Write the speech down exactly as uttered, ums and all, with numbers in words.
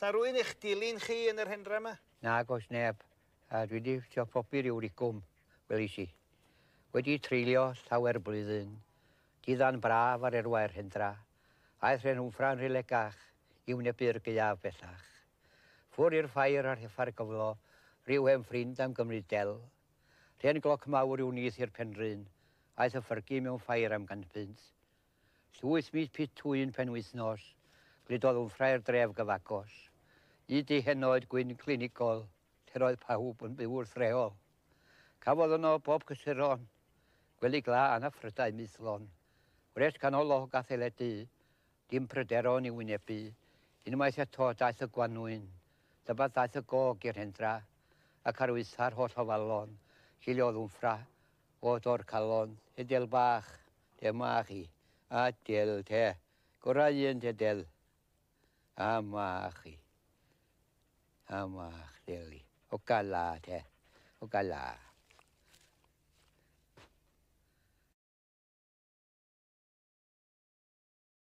Sa rwy'n eich dilyn chi yn yr hendra yma? Nag oes neb. A dwi wedi trio pobi ryw rigwm, welis i. Wedi treulio llawer blwyddyn, diddan braf ar erwair hendra. Aeth rhen Wmffra'n rhilegach i wynebu'r gaeaf bellach. Ffwr i'r ffair ar heffa'r gyflo, rhyw hen ffrind am gymryd del. Rhen gloc mawr i'w nyth i'r Penrhyn, aeth y ffyrgi mewn ffair am gant punt. Llwyth mis pitw un penwythnos, gludodd Wmffra i'r dref gyfagos. I di henoed gwyn clinigol, lle roedd pawb yn byw wrth reol. Cafodd yno bob cysuron, gwely glân a phrydau maethlon. Gwres canolog a theledu, dim pryderon i wynebu. Unwaith eto daeth y gwanwyn, dyma ddaeth y gog i'r hendra, ac ar waetha'r holl ofalon, ciliodd Wmffra o dor calon, te del bach, te mach i, a del te, gorau un te del, a mach i, a mach del i, o gala te, o gala.